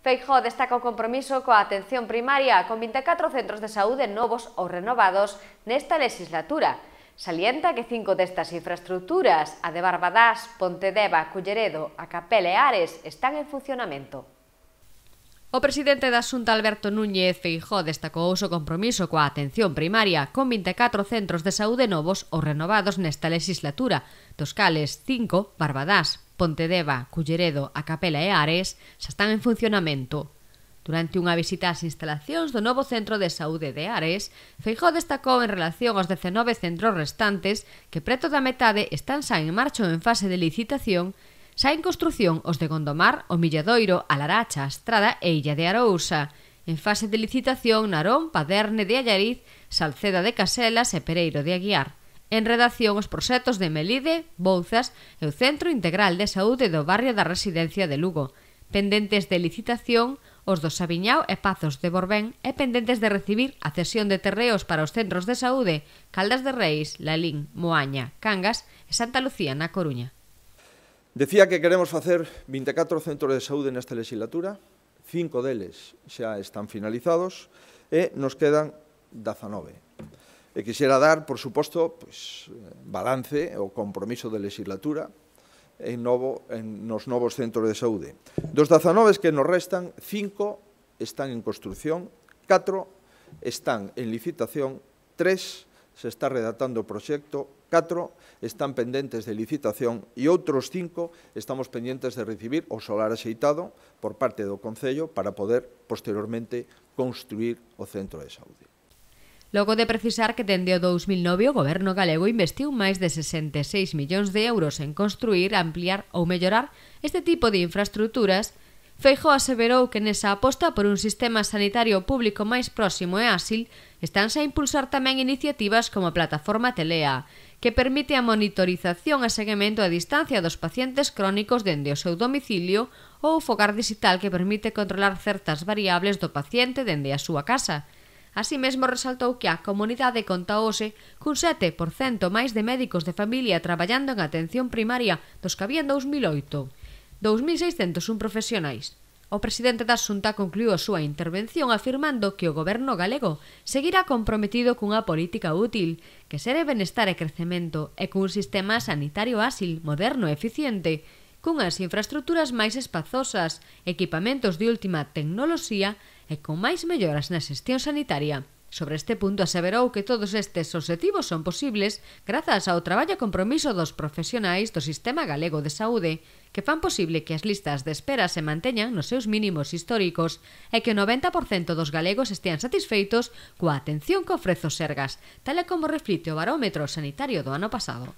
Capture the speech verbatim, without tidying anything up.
Feijóo destaca o compromiso coa atención primaria con vinte e catro centros de saúde novos ou renovados nesta legislatura. Salienta que cinco destas infraestructuras, a de Barbadás, Pontedeva, Culleredo, a Capela e Ares, están en funcionamento. O presidente da Xunta, Alberto Núñez Feijóo, destacou o seu compromiso coa atención primaria con vinte e catro centros de saúde novos ou renovados nesta legislatura, dos cales cinco, Barbadás, Pontedeva, Culleredo, a Capela e Ares, xa están en funcionamento. Durante unha visita ás instalacións do novo centro de saúde de Ares, Feijóo destacou en relación aos dezenove centros restantes que preto da metade están xa en marcha ou en fase de licitación, xa en construción os de Gondomar, o Milladoiro, a Laracha, a Estrada e Illa de Arousa. En fase de licitación Narón, Paderne de Allariz, Salceda de Caselas e Pereiro de Aguiar. En redacción os proxectos de Melide, Bouzas e o Centro Integral de Saúde do barrio da Residencia de Lugo. Pendentes de licitación os do Sabiñao e Pazos de Borbén e pendentes de recibir a cesión de terreos para os centros de saúde Caldas de Reis, Lalín, Moaña, Cangas e Santa Lucía na Coruña. Decía que queremos facer vinte e catro centros de saúde nesta legislatura, cinco deles xa están finalizados e nos quedan dezanove. E quixera dar, por suposto, pues, balance o compromiso de legislatura en novo, en, nos novos centros de saúde. Dos dezanove que nos restan, cinco están en construción, catro están en licitación, tres se está redactando o proxecto, catro están pendentes de licitación e outros cinco estamos pendentes de recibir o solar axeitado por parte do Concello para poder, posteriormente, construir o centro de saúde. Logo de precisar que dende o dous mil nove o Goberno galego investiu máis de sesenta e seis millóns de euros en construir, ampliar ou mellorar este tipo de infraestructuras, Feijóo aseverou que nesa aposta por un sistema sanitario público máis próximo e áxil estánse a impulsar tamén iniciativas como a plataforma Telea, que permite a monitorización e seguimento a distancia dos pacientes crónicos dende o seu domicilio ou o fogar digital que permite controlar certas variables do paciente dende a súa casa. Así mesmo resaltou que a comunidade conta hoxe cun sete por cento máis de médicos de familia traballando en atención primaria dos que había en dous mil oito, dous mil seiscentos un profesionais. O presidente da Xunta concluiu a súa intervención afirmando que o Goberno galego seguirá comprometido cunha política útil, que sere benestar e crecemento e cun sistema sanitario áxil, moderno e eficiente, cunhas infraestructuras máis espazosas, equipamentos de última tecnoloxía e con máis melloras na xestión sanitaria. Sobre este punto aseverou que todos estes obxectivos son posibles grazas ao traballo e compromiso dos profesionais do Sistema Galego de Saúde, que fan posible que as listas de espera se manteñan nos seus mínimos históricos e que o noventa por cento dos galegos estean satisfeitos coa atención que ofrece o Sergas, tal e como reflite o barómetro sanitario do ano pasado.